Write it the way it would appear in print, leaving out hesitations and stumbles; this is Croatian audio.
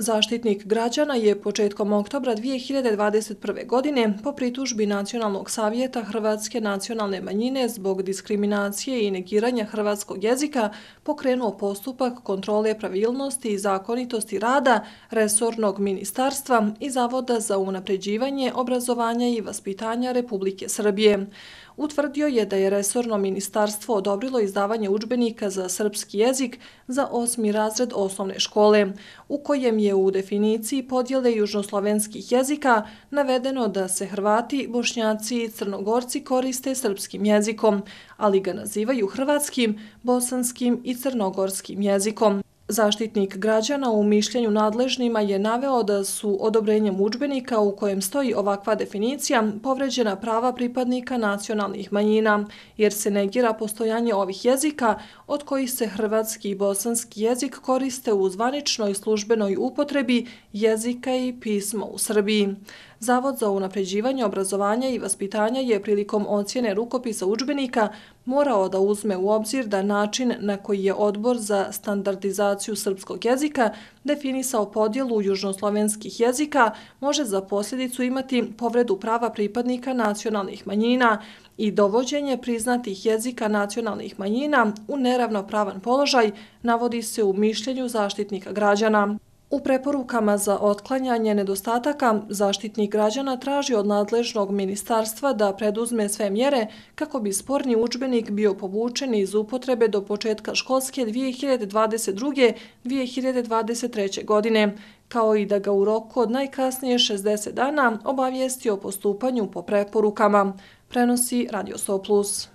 Zaštitnik građana je početkom oktobra 2021. godine po pritužbi Nacionalnog savjeta Hrvatske nacionalne manjine zbog diskriminacije i negiranja hrvatskog jezika pokrenuo postupak kontrole pravilnosti i zakonitosti rada resornog ministarstva i Zavoda za unapređivanje obrazovanja i vaspitanja Republike Srbije. Utvrdio je da je resorno ministarstvo odobrilo izdavanje udžbenika za srpski jezik za 8. razred osnovne škole, u kojem je u definiciji podjele južnoslovenskih jezika navedeno da se Hrvati, Bošnjaci i Crnogorci koriste srpskim jezikom, ali ga nazivaju hrvatskim, bosanskim i crnogorskim jezikom. Zaštitnik građana u mišljenju nadležnima je naveo da su odobrenjem udžbenika u kojem stoji ovakva definicija povređena prava pripadnika nacionalnih manjina, jer se negira postojanje ovih jezika od kojih se hrvatski i bosanski jezik koriste u zvaničnoj službenoj upotrebi jezika i pisma u Srbiji. Zavod za unapređivanje obrazovanja i vaspitanja je prilikom ocjene rukopisa udžbenika morao da uzme u obzir da način na koji je Odbor za standardizaciju srpskog jezika definisao podjelu južnoslovenskih jezika može za posljedicu imati povredu prava pripadnika nacionalnih manjina i dovođenje priznatih jezika nacionalnih manjina u neravnopravan položaj, navodi se u mišljenju Zaštitnika građana. U preporukama za otklanjanje nedostataka Zaštitnik građana traži od nadležnog ministarstva da preduzme sve mjere kako bi sporni udžbenik bio povučen iz upotrebe do početka školske 2022-2023. godine, kao i da ga u roku od najkasnije 60 dana obavijesti o postupanju po preporukama, prenosi Radio 100+.